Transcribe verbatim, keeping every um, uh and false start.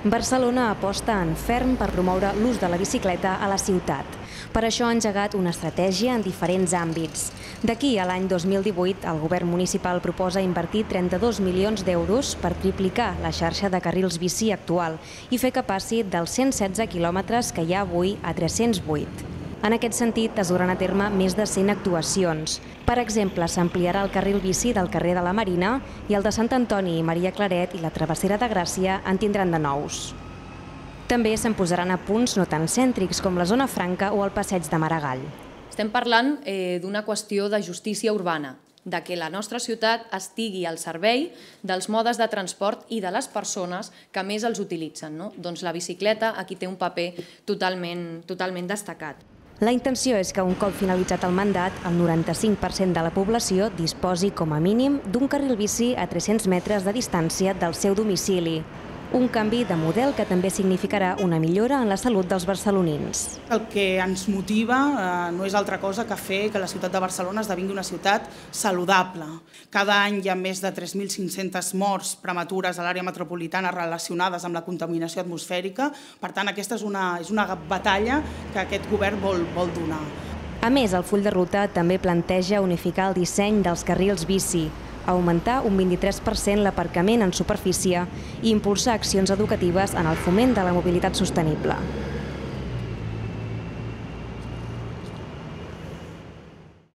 Barcelona aposta en ferm per promoure l'ús de la bicicleta a la ciutat. Per això ha engegat una estratègia en diferents àmbits. D'aquí a l'any dos mil divuit, el govern municipal proposa invertir trenta-dos milions d'euros per triplicar la xarxa de carrils bici actual i fer que passi dels cent setze quilòmetres que hi ha avui a tres-cents vuit. En aquest sentit, es duran a terme més de cent actuacions. Per exemple, s'ampliarà el carril bici del carrer de la Marina i el de Sant Antoni i Maria Claret i la travessera de Gràcia en tindran de nous. També se'n posaran a punts no tan cèntrics com la zona franca o el passeig de Maragall. Estem parlant eh, d'una qüestió de justícia urbana, de que la nostra ciutat estigui al servei dels modes de transport i de les persones que més els utilitzen, no? Doncs la bicicleta aquí té un paper totalment, totalment destacat. La intenció és que un cop finalitzat el mandat, el noranta-cinc per cent de la població disposi com a mínim d'un carril bici a tres-cents metres de distància del seu domicili. Un canvi de model que també significarà una millora en la salut dels barcelonins. El que ens motiva eh, no és altra cosa que fer que la ciutat de Barcelona esdevingui una ciutat saludable. Cada any hi ha més de tres mil cinc-centes morts prematures a l'àrea metropolitana relacionades amb la contaminació atmosfèrica. Per tant, aquesta és una, és una batalla que aquest govern vol, vol donar. A més, el full de ruta també planteja unificar el disseny dels carrils bici, augmentar un vint-i-tres per cent l'aparcament en superfície i impulsar accions educatives en el foment de la mobilitat sostenible.